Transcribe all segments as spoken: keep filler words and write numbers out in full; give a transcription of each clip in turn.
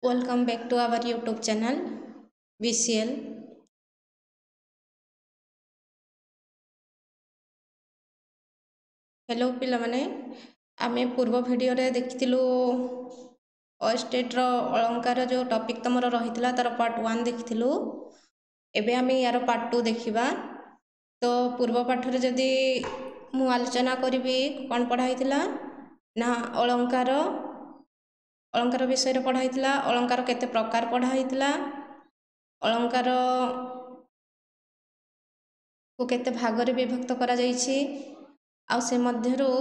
Welcome back to our YouTube channel B C L. Hello ପିଲାମାନେ, ଆମେ ପୂର୍ବ ଭିଡ଼ିଓରେ ଦେଖିଥିଲୁ ଅଏଷ୍ଟେଟ୍ର ଅଳଙ୍କାର ଯେଉଁ ଟପିକ୍ ତୁମର ରହିଥିଲା ତା'ର ପାର୍ଟ ୱାନ୍ ଦେଖିଥିଲୁ। ଏବେ ଆମେ ୟାର ପାର୍ଟ ଟୁ ଦେଖିବା। ତ ପୂର୍ବ ପାଠରେ ଯଦି ମୁଁ ଆଲୋଚନା କରିବି କ'ଣ ପଢ଼ା ହେଇଥିଲା ନା ଅଳଙ୍କାର ଅଳଙ୍କାର ବିଷୟରେ ପଢ଼ା ହେଇଥିଲା, ଅଳଙ୍କାର କେତେ ପ୍ରକାର ପଢ଼ା ହେଇଥିଲା, ଅଳଙ୍କାରକୁ କେତେ ଭାଗରେ ବିଭକ୍ତ କରାଯାଇଛି, ଆଉ ସେ ମଧ୍ୟରୁ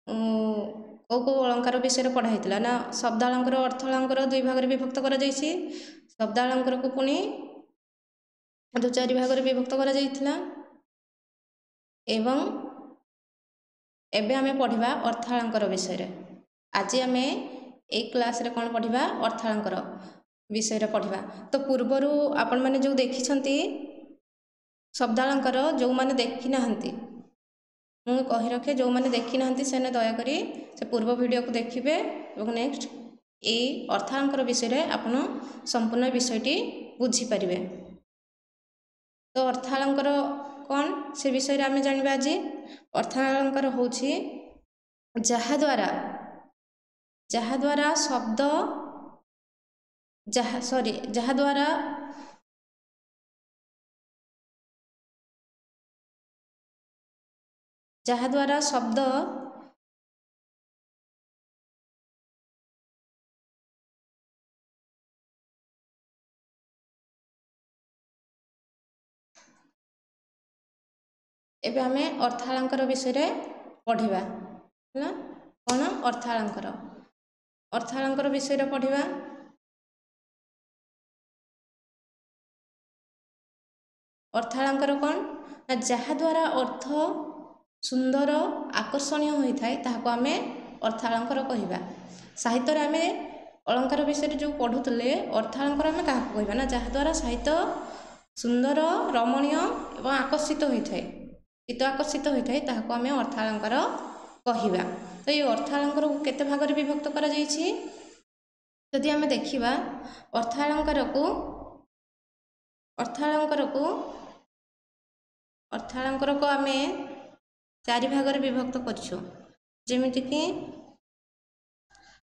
କେଉଁ କେଉଁ ଅଳଙ୍କାର ବିଷୟରେ ପଢ଼ା ହେଇଥିଲା ନା ଶବ୍ଦାଳଙ୍କାର, ଅର୍ଥ ଅଳଙ୍କାର ଦୁଇ ଭାଗରେ ବିଭକ୍ତ କରାଯାଇଛି। ଶବ୍ଦାଳଙ୍କାରକୁ ପୁଣି ଦୁଇ ଚାରି ଭାଗରେ ବିଭକ୍ତ କରାଯାଇଥିଲା। ଏବଂ ଏବେ ଆମେ ପଢ଼ିବା ଅର୍ଥାଳଙ୍କାର ବିଷୟରେ। ଆଜି ଆମେ ଏଇ କ୍ଲାସ୍ରେ କ'ଣ ପଢ଼ିବା? ଅର୍ଥାଳଙ୍କାର ବିଷୟରେ ପଢ଼ିବା। ତ ପୂର୍ବରୁ ଆପଣମାନେ ଯେଉଁ ଦେଖିଛନ୍ତି ଶବ୍ଦାଳଙ୍କାର, ଯେଉଁମାନେ ଦେଖିନାହାନ୍ତି ମୁଁ କହି ରଖେ, ଯେଉଁମାନେ ଦେଖିନାହାନ୍ତି ସେମାନେ ଦୟାକରି ସେ ପୂର୍ବ ଭିଡ଼ିଓକୁ ଦେଖିବେ ଏବଂ ନେକ୍ସଟ ଏଇ ଅର୍ଥାଳଙ୍କାର ବିଷୟରେ ଆପଣ ସମ୍ପୂର୍ଣ୍ଣ ବିଷୟଟି ବୁଝିପାରିବେ। ତ ଅର୍ଥାଳଙ୍କାର କ'ଣ ସେ ବିଷୟରେ ଆମେ ଜାଣିବା ଆଜି। ଅର୍ଥାଳଙ୍କାର ହେଉଛି ଯାହାଦ୍ୱାରା ଯାହାଦ୍ୱାରା ଶବ୍ଦ ଯାହା ସରି ଯାହାଦ୍ୱାରା ଯାହାଦ୍ୱାରା ଶବ୍ଦ ଏବେ ଆମେ ଅର୍ଥାଳଙ୍କାର ବିଷୟରେ ପଢ଼ିବା। ହେଲା, କ'ଣ ଅର୍ଥାଳଙ୍କାର? ଅର୍ଥାଳଙ୍କାର ବିଷୟରେ ପଢ଼ିବା। ଅର୍ଥାଳଙ୍କାର କ'ଣ ନା ଯାହାଦ୍ୱାରା ଅର୍ଥ ସୁନ୍ଦର ଆକର୍ଷଣୀୟ ହୋଇଥାଏ ତାହାକୁ ଆମେ ଅର୍ଥାଳଙ୍କାର କହିବା। ସାହିତ୍ୟରେ ଆମେ ଅଳଙ୍କାର ବିଷୟରେ ଯେଉଁ ପଢ଼ୁଥିଲେ, ଅର୍ଥାଳଙ୍କାର ଆମେ କାହାକୁ କହିବା ନା ଯାହାଦ୍ୱାରା ସାହିତ୍ୟ ସୁନ୍ଦର, ରମଣୀୟ ଏବଂ ଆକର୍ଷିତ ହୋଇଥାଏ, ଚିତ୍ତ ଆକର୍ଷିତ ହୋଇଥାଏ, ତାହାକୁ ଆମେ ଅର୍ଥାଳଙ୍କାର କହିବା। ତ ଏଇ ଅର୍ଥାଳଙ୍କାରକୁ କେତେ ଭାଗରେ ବିଭକ୍ତ କରାଯାଇଛି? ଯଦି ଆମେ ଦେଖିବା ଅର୍ଥାଳଙ୍କାରକୁ ଅର୍ଥାଳଙ୍କାରକୁ ଅର୍ଥାଳଙ୍କାରକୁ ଆମେ ଚାରି ଭାଗରେ ବିଭକ୍ତ କରିଛୁ। ଯେମିତିକି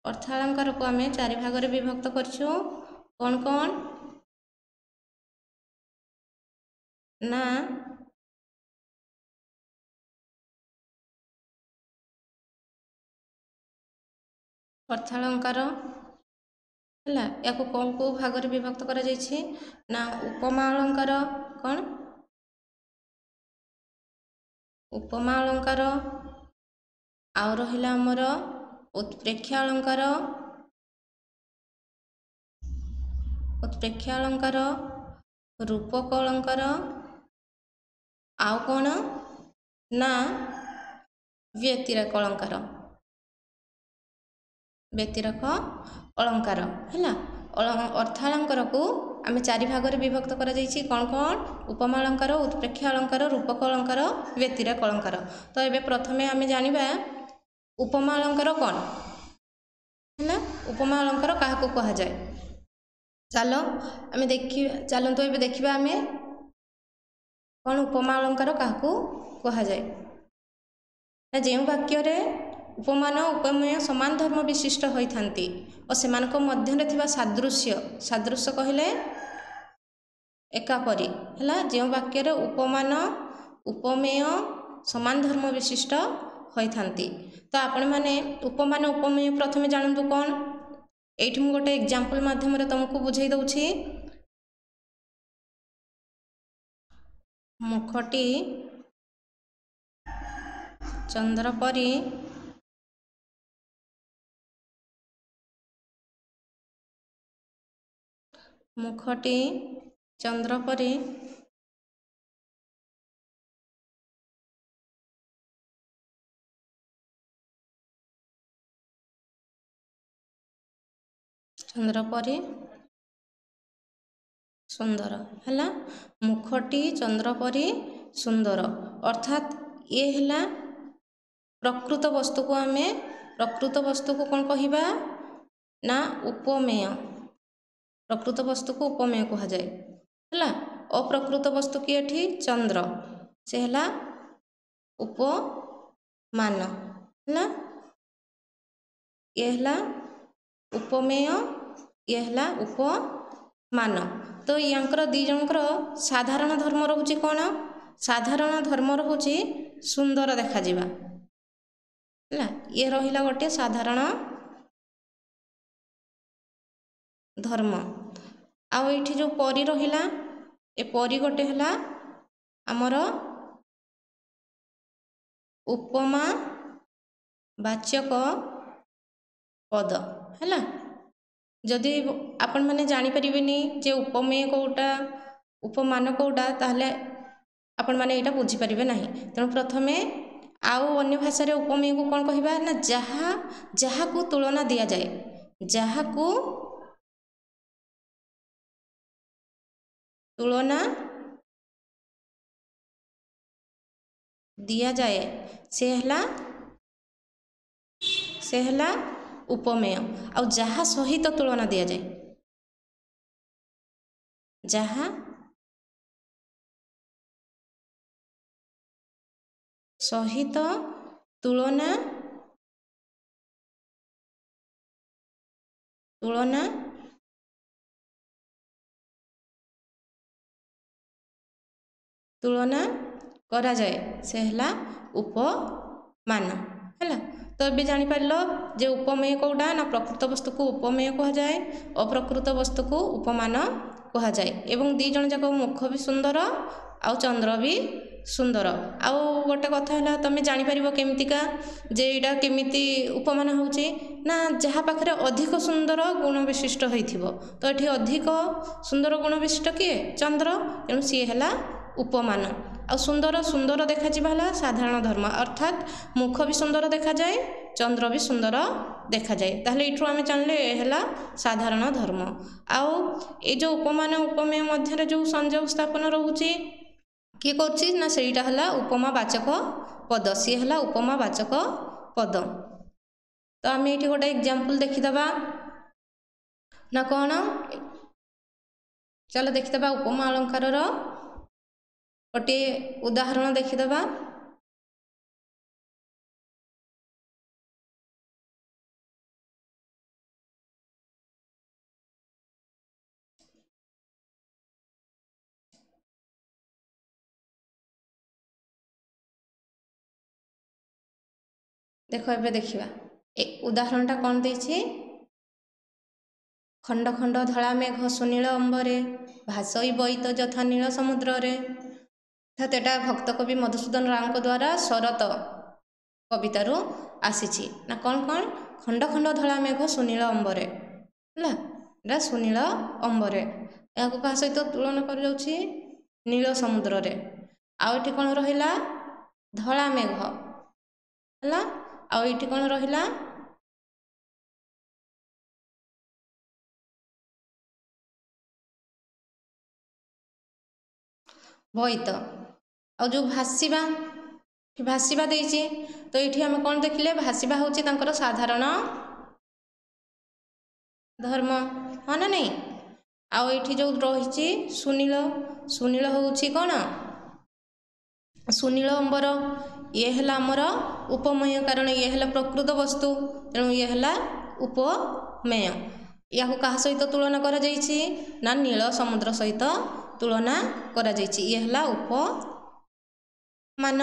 ଅର୍ଥାଳଙ୍କାରକୁ ଆମେ ଚାରି ଭାଗରେ ବିଭକ୍ତ କରିଛୁ। କ'ଣ କ'ଣ ନା ଅର୍ଥାଳଙ୍କାର ହେଲା, ୟାକୁ କେଉଁ କେଉଁ ଭାଗରେ ବିଭକ୍ତ କରାଯାଇଛି ନା ଉପମା ଅଳଙ୍କାର, କ'ଣ ଉପମା ଅଳଙ୍କାର, ଆଉ ରହିଲା ଆମର ଉତ୍ପ୍ରେକ୍ଷା ଅଳଙ୍କାର, ଉତ୍ପ୍ରେକ୍ଷା ଅଳଙ୍କାର, ରୂପକ ଅଳଙ୍କାର, ଆଉ କ'ଣ ନା ବ୍ୟତିରେକ ଅଳଙ୍କାର, ବ୍ୟତିରେକ ଅଳଙ୍କାର। ହେଲା, ଅର୍ଥାଳଙ୍କାରକୁ ଆମେ ଚାରି ଭାଗରେ ବିଭକ୍ତ କରାଯାଇଛି। କ'ଣ କ'ଣ? ଉପମା ଅଳଙ୍କାର, ଉତ୍ପ୍ରେକ୍ଷା ଅଳଙ୍କାର, ରୂପକ ଅଳଙ୍କାର, ବ୍ୟତିରେକ ଅଳଙ୍କାର। ତ ଏବେ ପ୍ରଥମେ ଆମେ ଜାଣିବା ଉପମା ଅଳଙ୍କାର କ'ଣ। ହେଲା, ଉପମା ଅଳଙ୍କାର କାହାକୁ କୁହାଯାଏ? ଚାଲ ଆମେ ଦେଖିବା, ଚାଲନ୍ତୁ ଏବେ ଦେଖିବା ଆମେ କ'ଣ ଉପମା ଅଳଙ୍କାର କାହାକୁ କୁହାଯାଏ। ନା ଯେଉଁ ବାକ୍ୟରେ ଉପମାନ ଉପମେୟ ସମାନ ଧର୍ମ ବିଶିଷ୍ଟ ହୋଇଥାନ୍ତି ଓ ସେମାନଙ୍କ ମଧ୍ୟରେ ଥିବା ସାଦୃଶ୍ୟ, ସାଦୃଶ୍ୟ କହିଲେ ଏକାପରି। ହେଲା, ଯେଉଁ ବାକ୍ୟରେ ଉପମାନ ଉପମେୟ ସମାନ ଧର୍ମ ବିଶିଷ୍ଟ ହୋଇଥାନ୍ତି। ତ ଆପଣମାନେ ଉପମାନ ଉପମେୟ ପ୍ରଥମେ ଜାଣନ୍ତୁ କ'ଣ। ଏଇଠି ମୁଁ ଗୋଟେ ଏକ୍ଜାମ୍ପଲ୍ ମାଧ୍ୟମରେ ତୁମକୁ ବୁଝେଇ ଦେଉଛି। ମୁଖଟି ଚନ୍ଦ୍ର ପରି ମୁଖଟି ଚନ୍ଦ୍ର ପରି ଚନ୍ଦ୍ର ପରି ସୁନ୍ଦର। ହେଲା, ମୁଖଟି ଚନ୍ଦ୍ର ପରି ସୁନ୍ଦର, ଅର୍ଥାତ୍ ଇଏ ହେଲା ପ୍ରକୃତ ବସ୍ତୁକୁ ଆମେ ପ୍ରକୃତ ବସ୍ତୁକୁ କ'ଣ କହିବା ନା ଉପମେୟ। ପ୍ରକୃତ ବସ୍ତୁକୁ ଉପମେୟ କୁହାଯାଏ। ହେଲା, ଅପ୍ରକୃତ ବସ୍ତୁ କିଏ ଏଠି? ଚନ୍ଦ୍ର, ସେ ହେଲା ଉପମାନ। ହେଲା, ଇଏ ହେଲା ଉପମେୟ, ଇଏ ହେଲା ଉପମାନ। ତ ୟାଙ୍କର ଦୁଇ ଜଣଙ୍କର ସାଧାରଣ ଧର୍ମ ରହୁଛି କ'ଣ? ସାଧାରଣ ଧର୍ମ ରହୁଛି ସୁନ୍ଦର ଦେଖାଯିବା। ହେଲା, ଇଏ ରହିଲା ଗୋଟିଏ ସାଧାରଣ ଧର୍ମ। ଆଉ ଏଇଠି ଯେଉଁ ପରି ରହିଲା, ଏ ପରି ଗୋଟେ ହେଲା ଆମର ଉପମା ବାଚକ ପଦ। ହେଲା, ଯଦି ଆପଣମାନେ ଜାଣିପାରିବେନି ଯେ ଉପମେୟ କେଉଁଟା, ଉପମାନ କେଉଁଟା, ତାହେଲେ ଆପଣମାନେ ଏଇଟା ବୁଝିପାରିବେ ନାହିଁ। ତେଣୁ ପ୍ରଥମେ ଆଉ ଅନ୍ୟ ଭାଷାରେ ଉପମେୟକୁ କ'ଣ କହିବା ନା ଯାହା ଯାହାକୁ ତୁଳନା ଦିଆଯାଏ, ଯାହାକୁ ତୁଳନା ଦିଆଯାଏ ସେ ହେଲା ସେ ହେଲା ଉପମେୟ। ଆଉ ଯାହା ସହିତ ତୁଳନା ଦିଆଯାଏ, ଯାହା ସହିତ ତୁଳନା ତୁଳନା ତୁଳନା କରାଯାଏ ସେ ହେଲା ଉପମାନ। ହେଲା, ତ ଏବେ ଜାଣିପାରିଲ ଯେ ଉପମେୟ କେଉଁଟା ନା ପ୍ରକୃତ ବସ୍ତୁକୁ ଉପମେୟ କୁହାଯାଏ, ଅପ୍ରକୃତ ବସ୍ତୁକୁ ଉପମାନ କୁହାଯାଏ। ଏବଂ ଦୁଇ ଜଣ ଯାକ ମୁଖ ବି ସୁନ୍ଦର ଆଉ ଚନ୍ଦ୍ର ବି ସୁନ୍ଦର। ଆଉ ଗୋଟେ କଥା ହେଲା, ତୁମେ ଜାଣିପାରିବ କେମିତିକା ଯେ ଏଇଟା କେମିତି ଉପମାନ ହେଉଛି ନା ଯାହା ପାଖରେ ଅଧିକ ସୁନ୍ଦର ଗୁଣ ବିଶିଷ୍ଟ ହୋଇଥିବ। ତ ଏଠି ଅଧିକ ସୁନ୍ଦର ଗୁଣ ବିଶିଷ୍ଟ କିଏ? ଚନ୍ଦ୍ର। ତେଣୁ ସିଏ ହେଲା ଉପମାନ। ଆଉ ସୁନ୍ଦର ସୁନ୍ଦର ଦେଖାଯିବା ହେଲା ସାଧାରଣ ଧର୍ମ, ଅର୍ଥାତ୍ ମୁଖ ବି ସୁନ୍ଦର ଦେଖାଯାଏ, ଚନ୍ଦ୍ର ବି ସୁନ୍ଦର ଦେଖାଯାଏ। ତାହେଲେ ଏଇଠୁ ଆମେ ଜାଣିଲେ ଏ ହେଲା ସାଧାରଣ ଧର୍ମ। ଆଉ ଏଇ ଯେଉଁ ଉପମାନ ଉପମେୟ ମଧ୍ୟରେ ଯେଉଁ ସଂଯୋଗ ସ୍ଥାପନ ରହୁଛି କିଏ କରୁଛି ନା ସେଇଟା ହେଲା ଉପମା ବାଚକ ପଦ, ସିଏ ହେଲା ଉପମା ବାଚକ ପଦ। ତ ଆମେ ଏଇଠି ଗୋଟେ ଏକ୍ଜାମ୍ପଲ୍ ଦେଖିଦେବା ନା କ'ଣ? ଚାଲ ଦେଖିଦେବା ଉପମା ଅଳଙ୍କାରର ଗୋଟିଏ ଉଦାହରଣ ଦେଖିଦେବା। ଦେଖ ଏବେ ଦେଖିବା ଏ ଉଦାହରଣଟା କ'ଣ ଦେଇଛି। ଖଣ୍ଡ ଖଣ୍ଡ ଧଳା ମେଘ ସୁନୀଳ ଅମ୍ବରେ, ଭାସଇ ବଇତ ଯଥା ନୀଳ ସମୁଦ୍ରରେ। ଅର୍ଥାତ୍ ଏଟା ଭକ୍ତ କବି ମଧୁସୂଦନ ରାଓଙ୍କ ଦ୍ୱାରା ଶରତ କବିତାରୁ ଆସିଛି। ନା କ'ଣ କ'ଣ? ଖଣ୍ଡ ଖଣ୍ଡ ଧଳା ମେଘ ସୁନୀଳ ଅମ୍ବରେ। ହେଲା, ଏଟା ସୁନୀଳ ଅମ୍ବରେ। ଏହାକୁ କାହା ସହିତ ତୁଳନା କରାଯାଉଛି? ନୀଳ ସମୁଦ୍ରରେ। ଆଉ ଏଠି କ'ଣ ରହିଲା? ଧଳା ମେଘ। ହେଲା, ଆଉ ଏଇଠି କ'ଣ ରହିଲା? ବୋଇତ। ଆଉ ଯେଉଁ ଭାସିବା, ଭାସିବା ଦେଇଛି, ତ ଏଇଠି ଆମେ କ'ଣ ଦେଖିଲେ? ଭାସିବା ହେଉଛି ତାଙ୍କର ସାଧାରଣ ଧର୍ମ, ହଁ ନା ନାଇଁ? ଆଉ ଏଇଠି ଯେଉଁ ରହିଛି ସୁନୀଳ, ସୁନୀଳ ହେଉଛି କ'ଣ? ସୁନୀଳ ଅମ୍ବର। ଇଏ ହେଲା ଆମର ଉପମେୟ, କାରଣ ଇଏ ହେଲା ପ୍ରକୃତ ବସ୍ତୁ, ତେଣୁ ଇଏ ହେଲା ଉପମେୟ। ୟାକୁ କାହା ସହିତ ତୁଳନା କରାଯାଇଛି ନା ନୀଳ ସମୁଦ୍ର ସହିତ ତୁଳନା କରାଯାଇଛି। ଇଏ ହେଲା ଉପମାନ।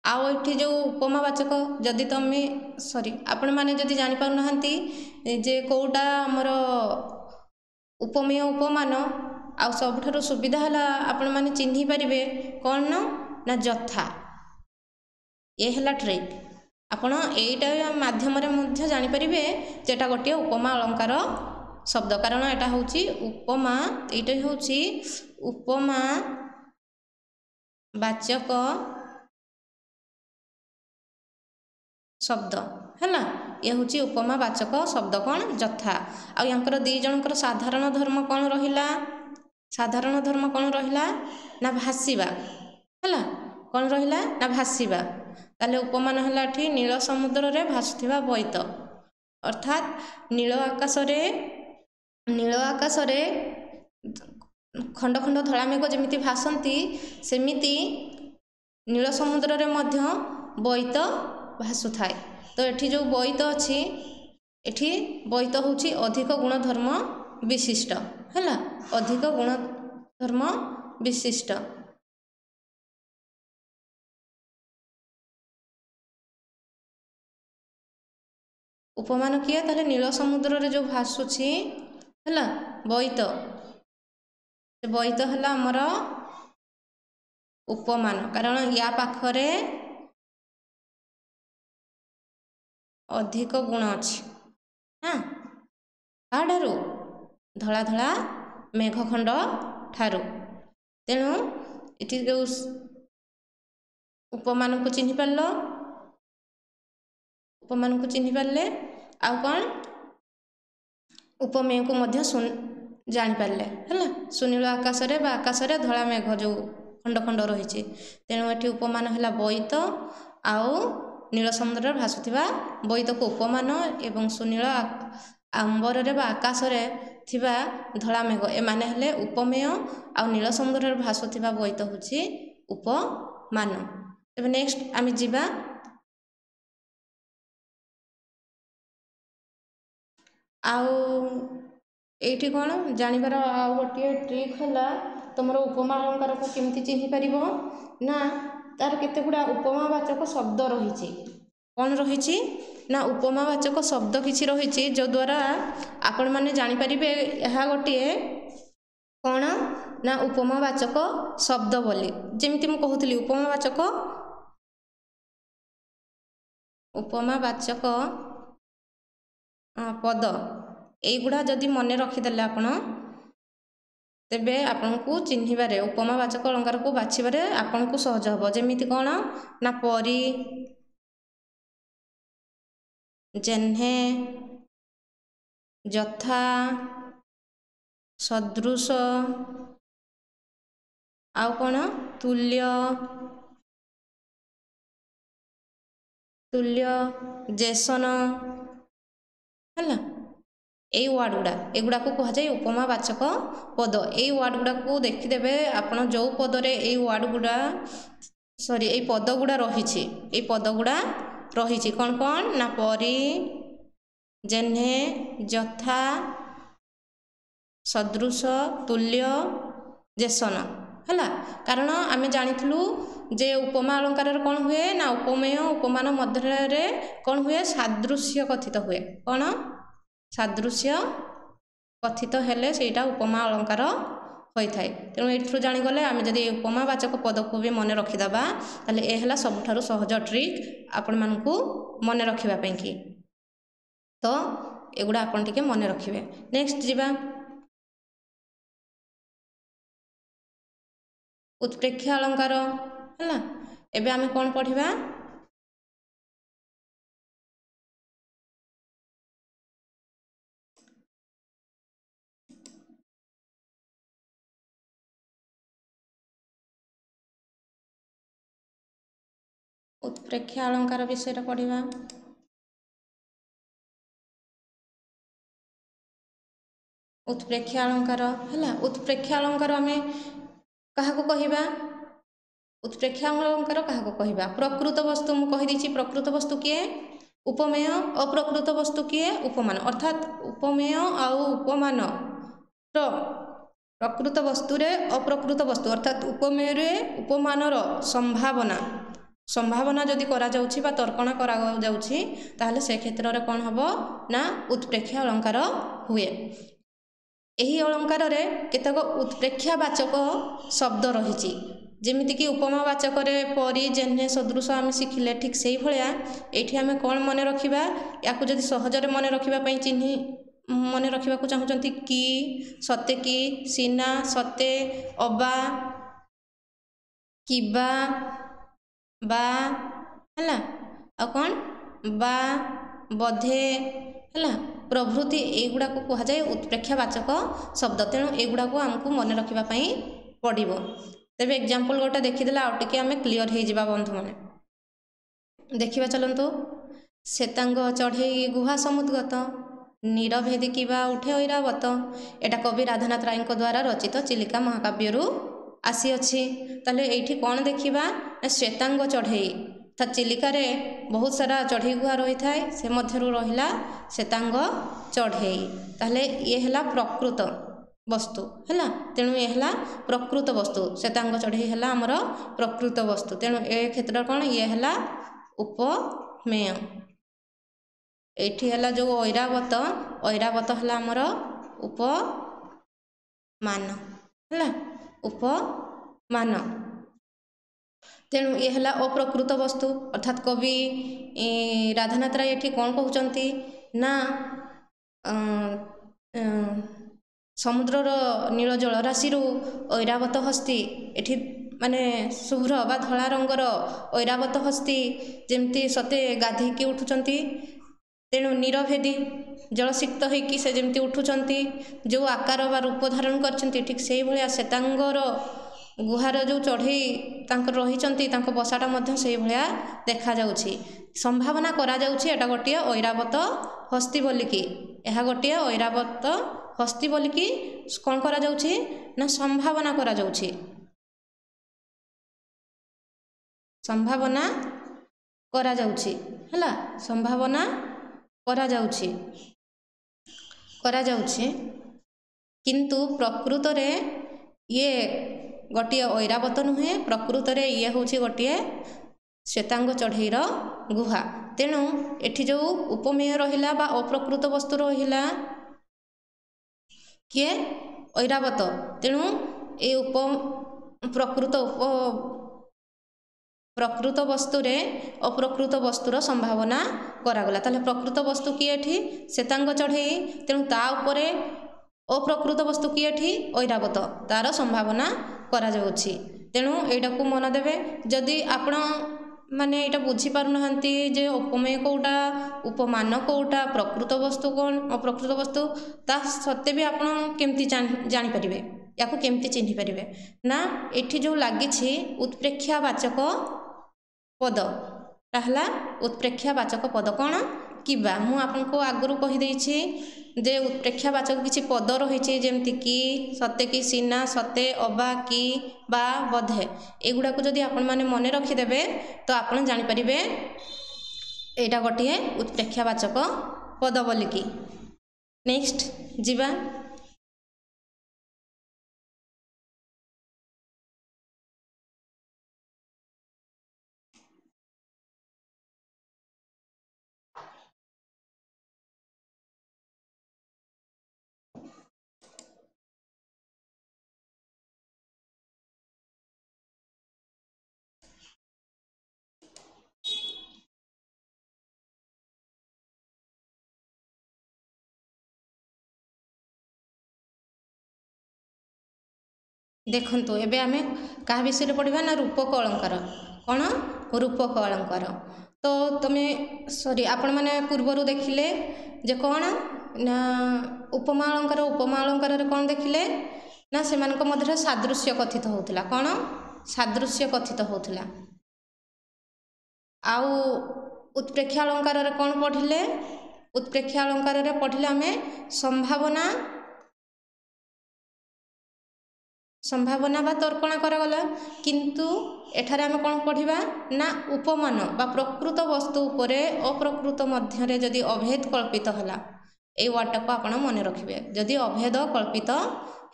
ଆଉ ଏଠି ଯେଉଁ ଉପମାବାଚକ, ଯଦି ତମେ ସରି ଆପଣମାନେ ଯଦି ଜାଣିପାରୁନାହାନ୍ତି ଯେ କେଉଁଟା ଆମର ଉପମେୟ ଉପମାନ, ଆଉ ସବୁଠାରୁ ସୁବିଧା ହେଲା ଆପଣମାନେ ଚିହ୍ନି ପାରିବେ କ'ଣ ନା ଯଥା। ଏ ହେଲା ଟ୍ରିକ୍। ଆପଣ ଏଇଟା ମାଧ୍ୟମରେ ମଧ୍ୟ ଜାଣିପାରିବେ ଯେ ଏଇଟା ଗୋଟିଏ ଉପମା ଅଳଙ୍କାର ଶବ୍ଦ, କାରଣ ଏଇଟା ହେଉଛି ଉପମା, ଏଇଟା ହେଉଛି ଉପମା ବାଚକ ଶବ୍ଦ। ହେଲା, ଇଏ ହେଉଛି ଉପମା ବାଚକ ଶବ୍ଦ କ'ଣ? ଯଥା। ଆଉ ୟାଙ୍କର ଦୁଇ ଜଣଙ୍କର ସାଧାରଣ ଧର୍ମ କ'ଣ ରହିଲା? ସାଧାରଣ ଧର୍ମ କ'ଣ ରହିଲା ନା ଭାସିବା। ହେଲା, କ'ଣ ରହିଲା ନା ଭାସିବା। ତାହେଲେ ଉପମାନ ହେଲା ଏଠି ନୀଳ ସମୁଦ୍ରରେ ଭାସୁଥିବା ବୋଇତ, ଅର୍ଥାତ୍ ନୀଳ ଆକାଶରେ ନୀଳ ଆକାଶରେ ଖଣ୍ଡ ଖଣ୍ଡ ଧଳା ମେଘ ଯେମିତି ଭାସନ୍ତି, ସେମିତି ନୀଳ ସମୁଦ୍ରରେ ମଧ୍ୟ ବୋଇତ ଭାସୁଥାଏ। ତ ଏଠି ଯେଉଁ ବୋଇତ ଅଛି, ଏଠି ବୋଇତ ହେଉଛି ଅଧିକ ଗୁଣଧର୍ମ ବିଶିଷ୍ଟ। ହେଲା, ଅଧିକ ଗୁଣଧର୍ମ ବିଶିଷ୍ଟ। ଉପମାନ କିଏ? ତାହେଲେ ନୀଳ ସମୁଦ୍ରରେ ଯେଉଁ ଭାସୁଛି ହେଲା ବୋଇତ, ସେ ବୋଇତ ହେଲା ଆମର ଉପମାନ, କାରଣ ୟା ପାଖରେ ଅଧିକ ଗୁଣ ଅଛି। ହଁ, କାହାଠାରୁ? ଧଳା ଧଳା ମେଘଖଣ୍ଡ ଠାରୁ। ତେଣୁ ଏଠି ଯେଉଁ ଉପମାନକୁ ଚିହ୍ନି ପାରିଲ, ଉପମାନକୁ ଚିହ୍ନି ପାରିଲେ, ଆଉ କ'ଣ ଉପମେୟକୁ ମଧ୍ୟ ଜାଣିପାରିଲେ। ହେଲା, ସୁନୀଳ ଆକାଶରେ ବା ଆକାଶରେ ଧଳା ମେଘ ଯେଉଁ ଖଣ୍ଡ ଖଣ୍ଡ ରହିଛି, ତେଣୁ ଏଠି ଉପମାନ ହେଲା ବୋଇତ, ଆଉ ନୀଳ ସମୁଦ୍ରରେ ଭାସୁଥିବା ବୋଇତକୁ ଉପମାନ, ଏବଂ ସୁନୀଳ ଆମ୍ବରରେ ବା ଆକାଶରେ ଥିବା ଧଳା ମେଘ ଏମାନେ ହେଲେ ଉପମେୟ, ଆଉ ନୀଳ ସମୁଦ୍ରରେ ଭାସୁଥିବା ବୋଇତ ହେଉଛି ଉପମାନ। ତେବେ ନେକ୍ସଟ ଆମେ ଯିବା ଆଉ ଏଇଠି କ'ଣ ଜାଣିବାର ଆଉ ଗୋଟିଏ ଟ୍ରିକ୍ ହେଲା, ତୁମର ଉପମା ଅଳଙ୍କାରକୁ କେମିତି ଚିହ୍ନି ପାରିବ ନା, ତାର କେତେ ଗୁଡ଼ା ଉପମାବାଚକ ଶବ୍ଦ ରହିଛି। କ'ଣ ରହିଛି ନା, ଉପମାବାଚକ ଶବ୍ଦ କିଛି ରହିଛି, ଯଦ୍ୱାରା ଆପଣମାନେ ଜାଣିପାରିବେ ଏହା ଗୋଟିଏ କ'ଣ ନା ଉପମାବାଚକ ଶବ୍ଦ ବୋଲି। ଯେମିତି ମୁଁ କହୁଥିଲି, ଉପମାବାଚକ ଉପମାବାଚକ ପଦ ଏଇଗୁଡ଼ା ଯଦି ମନେ ରଖିଦେଲେ ଆପଣ, ତେବେ ଆପଣଙ୍କୁ ଚିହ୍ନିବାରେ, ଉପମାବାଚକ ଅଳଙ୍କାରକୁ ବାଛିବାରେ ଆପଣଙ୍କୁ ସହଜ ହେବ। ଯେମିତି କ'ଣ ନା ପରି, ଯେହ୍ନେ, ଯଥା, ସଦୃଶ, ଆଉ କ'ଣ ତୁଲ୍ୟ, ତୁଲ୍ୟ, ଯେସନ। ହେଲା, ଏଇ ୱାର୍ଡ଼ ଗୁଡ଼ା, ଏଗୁଡ଼ାକୁ କୁହାଯାଏ ଉପମାବାଚକ ପଦ। ଏଇ ୱାର୍ଡ଼ ଗୁଡ଼ାକୁ ଦେଖିଦେବେ ଆପଣ, ଯେଉଁ ପଦରେ ଏଇ ୱାର୍ଡ଼ ଗୁଡ଼ା, ସରି, ଏଇ ପଦ ଗୁଡ଼ା ରହିଛି, ଏଇ ପଦ ଗୁଡ଼ା ରହିଛି କ'ଣ କ'ଣ ନା ପରି, ଯେହ୍ନେ, ଯଥା, ସଦୃଶ, ତୁଲ୍ୟ, ଯେସନ। ହେଲା, କାରଣ ଆମେ ଜାଣିଥିଲୁ ଯେ ଉପମା ଅଳଙ୍କାରରେ କ'ଣ ହୁଏ ନା ଉପମେୟ ଉପମାନ ମଧ୍ୟରେ କ'ଣ ହୁଏ? ସାଦୃଶ୍ୟ କଥିତ ହୁଏ। କ'ଣ ସାଦୃଶ୍ୟ କଥିତ ହେଲେ ସେଇଟା ଉପମା ଅଳଙ୍କାର ହୋଇଥାଏ। ତେଣୁ ଏଇଥିରୁ ଜାଣିଗଲେ, ଆମେ ଯଦି ଏ ଉପମାବାଚକ ପଦକୁ ବି ମନେ ରଖିଦେବା, ତାହେଲେ ଏ ହେଲା ସବୁଠାରୁ ସହଜ ଟ୍ରିକ୍ ଆପଣମାନଙ୍କୁ ମନେ ରଖିବା ପାଇଁକି। ତ ଏଗୁଡ଼ା ଆପଣ ଟିକେ ମନେ ରଖିବେ। ନେକ୍ସଟ ଯିବା ଉତ୍ପ୍ରେକ୍ଷା ଅଳଙ୍କାର। ହେଲା, ଏବେ ଆମେ କ'ଣ ପଢ଼ିବା? ଉତ୍ପ୍ରେକ୍ଷା ଅଳଙ୍କାର ବିଷୟରେ ପଢ଼ିବା। ଉତ୍ପ୍ରେକ୍ଷା ଅଳଙ୍କାର ହେଲା, ଉତ୍ପ୍ରେକ୍ଷା ଅଳଙ୍କାର ଆମେ କାହାକୁ କହିବା? ଉତ୍ପ୍ରେକ୍ଷା ଅଳଙ୍କାର କାହାକୁ କହିବା? ପ୍ରକୃତ ବସ୍ତୁ ମୁଁ କହିଦେଇଛି। ପ୍ରକୃତ ବସ୍ତୁ କିଏ? ଉପମେୟ। ଅପ୍ରକୃତ ବସ୍ତୁ କିଏ? ଉପମାନ। ଅର୍ଥାତ୍ ଉପମେୟ ଆଉ ଉପମାନର ପ୍ରକୃତ ବସ୍ତୁରେ ଅପ୍ରକୃତ ବସ୍ତୁ, ଅର୍ଥାତ୍ ଉପମେୟରେ ଉପମାନର ସମ୍ଭାବନା ସମ୍ଭାବନା ଯଦି କରାଯାଉଛି ବା ତର୍କଣା କରାଯାଉଛି, ତାହେଲେ ସେ କ୍ଷେତ୍ରରେ କ'ଣ ହେବ ନା ଉତ୍ପ୍ରେକ୍ଷା ଅଳଙ୍କାର ହୁଏ। ଏହି ଅଳଙ୍କାରରେ କେତେକ ଉତ୍ପ୍ରେକ୍ଷାବାଚକ ଶବ୍ଦ ରହିଛି। ଯେମିତିକି ଉପମାବାଚକରେ ପରି, ଯେହ୍ନେ, ସଦୃଶ ଆମେ ଶିଖିଲେ, ଠିକ୍ ସେଇଭଳିଆ ଏଇଠି ଆମେ କ'ଣ ମନେ ରଖିବା? ୟାକୁ ଯଦି ସହଜରେ ମନେ ରଖିବା ପାଇଁ ଚିହ୍ନି ମନେ ରଖିବାକୁ ଚାହୁଁଛନ୍ତି, କି, ସତେ କି, ସିନା, ସତେ, ଅବା, କିବା, ବା, ହେଲା, ଆଉ କ'ଣ ବା, ବୋଧେ, ହେଲା, ପ୍ରଭୃତି, ଏଇଗୁଡ଼ାକୁ କୁହାଯାଏ ଉତ୍ପ୍ରେକ୍ଷାବାଚକ ଶବ୍ଦ। ତେଣୁ ଏଗୁଡ଼ାକୁ ଆମକୁ ମନେ ରଖିବା ପାଇଁ ପଡ଼ିବ। ତେବେ ଏକ୍ଜାମ୍ପଲ୍ ଗୋଟେ ଦେଖିଦେଲେ ଆଉ ଟିକେ ଆମେ କ୍ଲିଅର୍ ହେଇଯିବା ବନ୍ଧୁମାନେ। ଦେଖିବା ଚାଲନ୍ତୁ। ଶ୍ଵେତାଙ୍ଗ ଚଢ଼େଇ ଗୁହା ସମୁଦ୍ଗତ, ନୀରଭେଦୀ କିବା ଉଠେ ଐରାବତ। ଏଇଟା କବି ରାଧାନାଥ ରାୟଙ୍କ ଦ୍ୱାରା ରଚିତ ଚିଲିକା ମହାକାବ୍ୟରୁ ଆସିଅଛି। ତାହେଲେ ଏଇଠି କ'ଣ ଦେଖିବା ନା ଶ୍ଵେତାଙ୍ଗ ଚଢ଼େଇ, ଅର୍ଥାତ୍ ଚିଲିକାରେ ବହୁତ ସାରା ଚଢ଼େଇ ଗୁହା ରହିଥାଏ, ସେ ମଧ୍ୟରୁ ରହିଲା ଶ୍ଵେତାଙ୍ଗ ଚଢ଼େଇ। ତାହେଲେ ଇଏ ହେଲା ପ୍ରକୃତ ବସ୍ତୁ ହେଲା। ତେଣୁ ଇଏ ହେଲା ପ୍ରକୃତ ବସ୍ତୁ, ଶ୍ଵେତାଙ୍ଗ ଚଢ଼େଇ ହେଲା ଆମର ପ୍ରକୃତ ବସ୍ତୁ। ତେଣୁ ଏ କ୍ଷେତ୍ରରେ କ'ଣ ଇଏ ହେଲା ଉପମେୟ। ଏଇଠି ହେଲା ଯେଉଁ ଐରାବତ, ଐରାବତ ହେଲା ଆମର ଉପମାନ ହେଲା, ଉପମାନ। ତେଣୁ ଇଏ ହେଲା ଅପ୍ରକୃତ ବସ୍ତୁ। ଅର୍ଥାତ୍ କବି ରାଧାନାଥ ରାୟ ଏଠି କ'ଣ କହୁଛନ୍ତି ନା ସମୁଦ୍ରର ନୀଳ ଜଳରାଶିରୁ ଐରାବତ ହସ୍ତି, ଏଠି ମାନେ ଶୁଭ୍ର ବା ଧଳା ରଙ୍ଗର ଐରାବତ ହସ୍ତି ଯେମିତି ସତେ ଗାଧେଇକି ଉଠୁଛନ୍ତି। ତେଣୁ ନୀରଭେଦୀ ଜଳସିକ୍ତ ହେଇକି ସେ ଯେମିତି ଉଠୁଛନ୍ତି, ଯେଉଁ ଆକାର ବା ରୂପ ଧାରଣ କରିଛନ୍ତି, ଠିକ୍ ସେଇଭଳିଆ ଶ୍ଵେତାଙ୍ଗର ଗୁହାର ଯେଉଁ ଚଢ଼େଇ ତାଙ୍କର ରହିଛନ୍ତି, ତାଙ୍କ ବସାଟା ମଧ୍ୟ ସେଇଭଳିଆ ଦେଖାଯାଉଛି। ସମ୍ଭାବନା କରାଯାଉଛି ଏଇଟା ଗୋଟିଏ ଐରାବତ ହସ୍ତି ବୋଲିକି, ଏହା ଗୋଟିଏ ଐରାବତ ହସ୍ତି ବୋଲିକି କ'ଣ କରାଯାଉଛି ନା ସମ୍ଭାବନା କରାଯାଉଛି, ସମ୍ଭାବନା କରାଯାଉଛି ହେଲା, ସମ୍ଭାବନା କରାଯାଉଛି କରାଯାଉଛି କିନ୍ତୁ ପ୍ରକୃତରେ ଇଏ ଗୋଟିଏ ଐରାବତ ନୁହେଁ, ପ୍ରକୃତରେ ଇଏ ହେଉଛି ଗୋଟିଏ ଶ୍ଵେତାଙ୍ଗ ଚଢ଼େଇର ଗୁହା। ତେଣୁ ଏଠି ଯେଉଁ ଉପମେୟ ରହିଲା ବା ଅପ୍ରକୃତ ବସ୍ତୁ ରହିଲା କିଏ? ଐରାବତ। ତେଣୁ ଏଇ ଉପ ପ୍ରକୃତ ଉପ ପ୍ରକୃତ ବସ୍ତୁରେ ଅପ୍ରକୃତ ବସ୍ତୁର ସମ୍ଭାବନା କରାଗଲା। ତାହେଲେ ପ୍ରକୃତ ବସ୍ତୁ କିଏ ଏଠି? ଶ୍ଵେତାଙ୍ଗ ଚଢ଼େଇ। ତେଣୁ ତା ଉପରେ ଅପ୍ରକୃତ ବସ୍ତୁ କିଏ ଏଠି? ଐରାବତ, ତାର ସମ୍ଭାବନା କରାଯାଉଛି। ତେଣୁ ଏଇଟାକୁ ମନ ଦେବେ। ଯଦି ଆପଣ ମାନେ ଏଇଟା ବୁଝିପାରୁନାହାନ୍ତି ଯେ ଉପମେୟ କେଉଁଟା, ଉପମାନ କେଉଁଟା, ପ୍ରକୃତ ବସ୍ତୁ କ'ଣ, ଅପ୍ରକୃତ ବସ୍ତୁ, ତା ସତ୍ତ୍ୱେ ବି ଆପଣ କେମିତି ଜାଣିପାରିବେ, ୟାକୁ କେମିତି ଚିହ୍ନି ପାରିବେ ନା ଏଠି ଯେଉଁ ଲାଗିଛି ଉତ୍ପ୍ରେକ୍ଷାବାଚକ ପଦ, ତା ହେଲା ଉତ୍ପ୍ରେକ୍ଷାବାଚକ ପଦ କ'ଣ? କିବା। ମୁଁ ଆପଣଙ୍କୁ ଆଗରୁ କହିଦେଇଛି ଯେ ଉତ୍ପ୍ରେକ୍ଷାବାଚକ କିଛି ପଦ ରହିଛି, ଯେମିତି କି, ସତେ କି, ସିନା, ସତେ, ଅବା, କି, ବା, ବୋଧେ। ଏଗୁଡ଼ାକୁ ଯଦି ଆପଣମାନେ ମନେ ରଖିଦେବେ ତ ଆପଣ ଜାଣିପାରିବେ ଏଇଟା ଗୋଟିଏ ଉତ୍ପ୍ରେକ୍ଷାବାଚକ ପଦ ବୋଲିକି। ନେକ୍ସଟ ଯିବା। ଦେଖନ୍ତୁ ଏବେ ଆମେ କାହା ବିଷୟରେ ପଢ଼ିବା ନା ରୂପକ ଅଳଙ୍କାର। କ'ଣ? ରୂପକ ଅଳଙ୍କାର। ତ ତୁମେ ସରି ଆପଣମାନେ ପୂର୍ବରୁ ଦେଖିଲେ ଯେ କ'ଣ ନା ଉପମା ଅଳଙ୍କାର। ଉପମା ଅଳଙ୍କାରରେ କ'ଣ ଦେଖିଲେ ନା ସେମାନଙ୍କ ମଧ୍ୟରେ ସାଦୃଶ୍ୟ କଥିତ ହେଉଥିଲା। କ'ଣ? ସାଦୃଶ୍ୟ କଥିତ ହେଉଥିଲା। ଆଉ ଉତ୍ପ୍ରେକ୍ଷା ଅଳଙ୍କାରରେ କ'ଣ ପଢ଼ିଲେ? ଉତ୍ପ୍ରେକ୍ଷା ଅଳଙ୍କାରରେ ପଢ଼ିଲେ ଆମେ ସମ୍ଭାବନା ସମ୍ଭାବନା ବା ତର୍କଣା କରାଗଲା। କିନ୍ତୁ ଏଠାରେ ଆମେ କ'ଣ ପଢ଼ିବା ନା ଉପମାନ ବା ପ୍ରକୃତ ବସ୍ତୁ ଉପରେ ଅପ୍ରକୃତ ମଧ୍ୟରେ ଯଦି ଅଭେଦ କଳ୍ପିତ ହେଲା, ଏଇ ୱାର୍ଡ଼ଟାକୁ ଆପଣ ମନେ ରଖିବେ। ଯଦି ଅଭେଦ କଳ୍ପିତ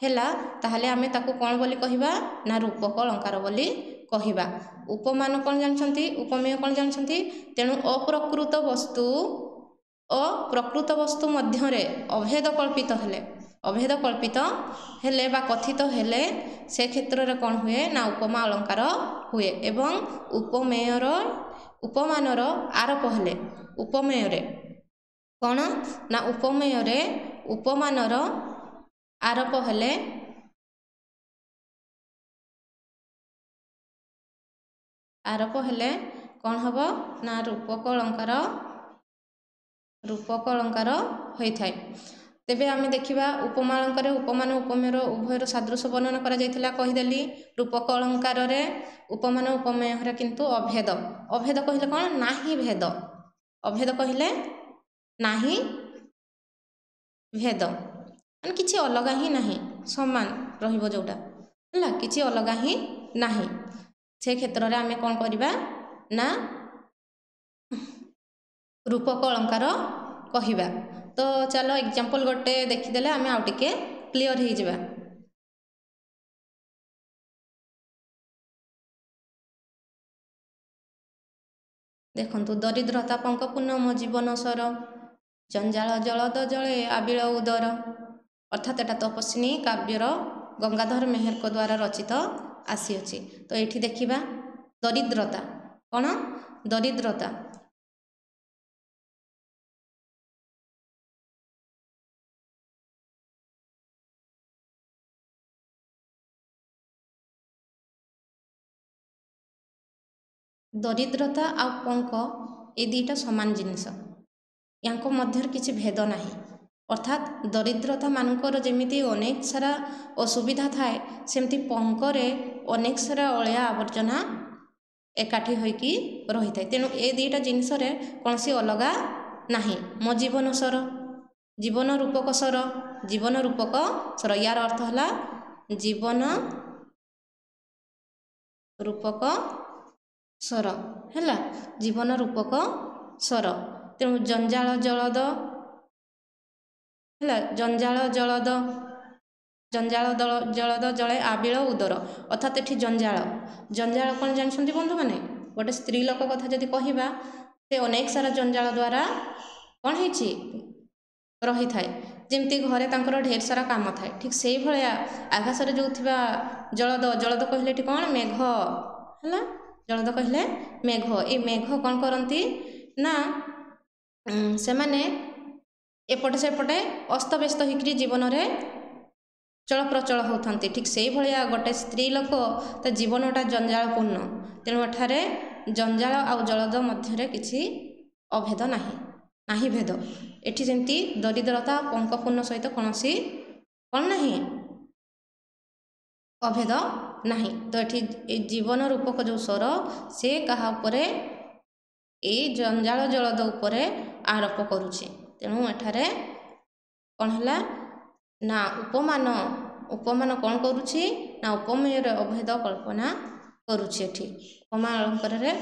ହେଲା ତାହେଲେ ଆମେ ତାକୁ କ'ଣ ବୋଲି କହିବା ନା ରୂପକ ଅଳଙ୍କାର ବୋଲି କହିବା। ଉପମାନ କ'ଣ ଜାଣିଛନ୍ତି? ଉପମେୟ କ'ଣ ଜାଣିଛନ୍ତି? ତେଣୁ ଅପ୍ରକୃତ ବସ୍ତୁ ଓ ପ୍ରକୃତ ବସ୍ତୁ ମଧ୍ୟରେ ଅଭେଦ କଳ୍ପିତ ହେଲେ, ଅଭେଦ କଳ୍ପିତ ହେଲେ ବା କଥିତ ହେଲେ ସେ କ୍ଷେତ୍ରରେ କ'ଣ ହୁଏ ନା ଉପମା ଅଳଙ୍କାର ହୁଏ। ଏବଂ ଉପମେୟର ଉପମାନର ଆରୋପ ହେଲେ ଉପମେୟରେ କ'ଣ ନା ଉପମେୟରେ ଉପମାନର ଆରୋପ ହେଲେ ଆରୋପ ହେଲେ କ'ଣ ହେବ ନା ରୂପକ ଅଳଙ୍କାର ରୂପକ ଅଳଙ୍କାର ହୋଇଥାଏ। ତେବେ ଆମେ ଦେଖିବା ଉପମା ଅଳଙ୍କାରରେ ଉପମାନ ଉପମେୟର ଉଭୟର ସାଦୃଶ୍ୟ ବର୍ଣ୍ଣନା କରାଯାଇଥିଲା, କହିଦେଲି। ରୂପକ ଅଳଙ୍କାରରେ ଉପମାନ ଉପମେୟର କିନ୍ତୁ ଅଭେଦ। ଅଭେଦ କହିଲେ କ'ଣ? ନାହିଁ ଭେଦ। ଅଭେଦ କହିଲେ ନାହିଁ ଭେଦ, ମାନେ କିଛି ଅଲଗା ହିଁ ନାହିଁ, ସମାନ ରହିବ ଯେଉଁଟା, ହେଲା, କିଛି ଅଲଗା ହିଁ ନାହିଁ। ସେ କ୍ଷେତ୍ରରେ ଆମେ କ'ଣ କରିବା ନା ରୂପକ ଅଳଙ୍କାର କହିବା। ତ ଚାଲ ଏକ୍ଜାମ୍ପଲ୍ ଗୋଟେ ଦେଖିଦେଲେ ଆମେ ଆଉ ଟିକେ କ୍ଲିଅର୍ ହେଇଯିବା। ଦେଖନ୍ତୁ, ଦରିଦ୍ରତା ପଙ୍କପୂର୍ଣ୍ଣ ମୋ ଜୀବନ ସର, ଜଞ୍ଜାଳ ଜଳଦ ଜଳେ ଆବିଳ ଉଦର। ଅର୍ଥାତ୍ ଏଟା ତପସ୍ୱିନୀ କାବ୍ୟର ଗଙ୍ଗାଧର ମେହେରଙ୍କ ଦ୍ୱାରା ରଚିତ ଆସିଅଛି। ତ ଏଇଠି ଦେଖିବା ଦରିଦ୍ରତା କ'ଣ? ଦରିଦ୍ରତା ଦରିଦ୍ରତା ଆଉ ପଙ୍କ ଏ ଦୁଇଟା ସମାନ ଜିନିଷ, ୟାଙ୍କ ମଧ୍ୟରେ କିଛି ଭେଦ ନାହିଁ। ଅର୍ଥାତ୍ ଦରିଦ୍ରତା ମାନଙ୍କର ଯେମିତି ଅନେକ ସାରା ଅସୁବିଧା ଥାଏ, ସେମିତି ପଙ୍କରେ ଅନେକ ସାରା ଅଳିଆ ଆବର୍ଜନା ଏକାଠି ହୋଇକି ରହିଥାଏ। ତେଣୁ ଏ ଦୁଇଟା ଜିନିଷରେ କୌଣସି ଅଲଗା ନାହିଁ। ମୋ ଜୀବନ ସର, ଜୀବନ ରୂପକ ସର, ଜୀବନ ରୂପକ ସର, ୟାର ଅର୍ଥ ହେଲା ଜୀବନ ରୂପକ ସର, ହେଲା, ଜୀବନ ରୂପକ ସର। ତେଣୁ ଜଞ୍ଜାଳ ଜଳଦ ହେଲା, ଜଞ୍ଜାଳ ଜଳଦ, ଜଞ୍ଜାଳ ଦଳ ଜଳଦ ଜଳେ ଆବିଳ ଉଦର। ଅର୍ଥାତ୍ ଏଠି ଜଞ୍ଜାଳ, ଜଞ୍ଜାଳ କ'ଣ ଜାଣିଛନ୍ତି ବନ୍ଧୁମାନେ? ଗୋଟେ ସ୍ତ୍ରୀ ଲୋକ କଥା ଯଦି କହିବା, ସେ ଅନେକ ସାରା ଜଞ୍ଜାଳ ଦ୍ୱାରା କ'ଣ ହେଇଛି ରହିଥାଏ। ଯେମିତି ଘରେ ତାଙ୍କର ଢେର ସାରା କାମ ଥାଏ, ଠିକ୍ ସେଇଭଳିଆ ଆକାଶରେ ଯେଉଁ ଥିବା ଜଳଦ, ଜଳଦ କହିଲେ ଏଠି କ'ଣ? ମେଘ, ହେଲା, ଜଳଦ କହିଲେ ମେଘ। ଏ ମେଘ କ'ଣ କରନ୍ତି ନା ସେମାନେ ଏପଟେ ସେପଟେ ଅସ୍ତବ୍ୟସ୍ତ ହେଇକରି ଜୀବନରେ ଚଳପ୍ରଚଳ ହେଉଥାନ୍ତି। ଠିକ୍ ସେଇଭଳିଆ ଗୋଟେ ସ୍ତ୍ରୀ ଲୋକ ତା ଜୀବନଟା ଜଞ୍ଜାଳପୂର୍ଣ୍ଣ। ତେଣୁ ଏଠାରେ ଜଞ୍ଜାଳ ଆଉ ଜଳଦ ମଧ୍ୟରେ କିଛି ଅଭେଦ ନାହିଁ, ନାହିଁ ଭେଦ। ଏଠି ଯେମିତି ଦରିଦ୍ରତା ପଙ୍କପୂର୍ଣ୍ଣ ସହିତ କୌଣସି କ'ଣ ନାହିଁ, ଅଭେଦ ନାହିଁ। ତ ଏଠି ଏ ଜୀବନ ରୂପକ ଯେଉଁ ସ୍ୱର, ସେ କାହା ଉପରେ? ଏଇ ଜଞ୍ଜାଳ ଜଳଦ ଉପରେ ଆରୋପ କରୁଛି। ତେଣୁ ଏଠାରେ କ'ଣ ହେଲା ନା ଉପମାନ, ଉପମାନ କ'ଣ କରୁଛି ନା ଉପମେୟରେ ଅଭେଦ କଳ୍ପନା କରୁଛି। ଏଠି ଉପମା ଅଳଙ୍କାରରେ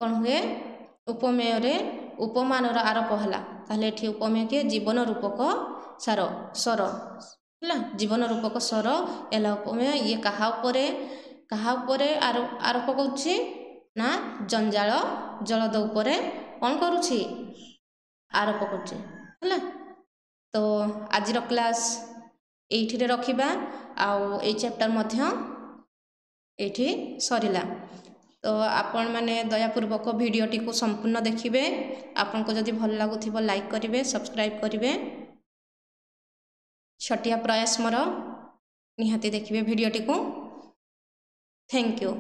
କ'ଣ ହୁଏ? ଉପମେୟରେ ଉପମାନର ଆରୋପ ହେଲା। ତାହେଲେ ଏଠି ଉପମେୟ କିଏ? ଜୀବନ ରୂପକ ସାର ସ୍ୱର, ହେଲା, ଜୀବନ ରୂପକ ସ୍ୱର ହେଲା ଉପମେୟ। ଇଏ କାହା ଉପରେ, କାହା ଉପରେ ଆରୋପ କରୁଛି ନା ଜଞ୍ଜାଳ ଜଳଦ ଉପରେ କ'ଣ କରୁଛି? ଆରୋପ କରୁଛି, ହେଲା। ତ ଆଜିର କ୍ଲାସ୍ ଏଇଠିରେ ରଖିବା, ଆଉ ଏଇ ଚାପ୍ଟର ମଧ୍ୟ ଏଇଠି ସରିଲା। ତ ଆପଣମାନେ ଦୟାପୂର୍ବକ ଭିଡ଼ିଓଟିକୁ ସମ୍ପୂର୍ଣ୍ଣ ଦେଖିବେ। ଆପଣଙ୍କୁ ଯଦି ଭଲ ଲାଗୁଥିବ ଲାଇକ୍ କରିବେ, ସବସ୍କ୍ରାଇବ୍ କରିବେ। ଛୋଟିଆ ପ୍ରୟାସ ମୋର, ନିହାତି ଦେଖିବେ ଭିଡ଼ିଓଟିକୁ। Thank you.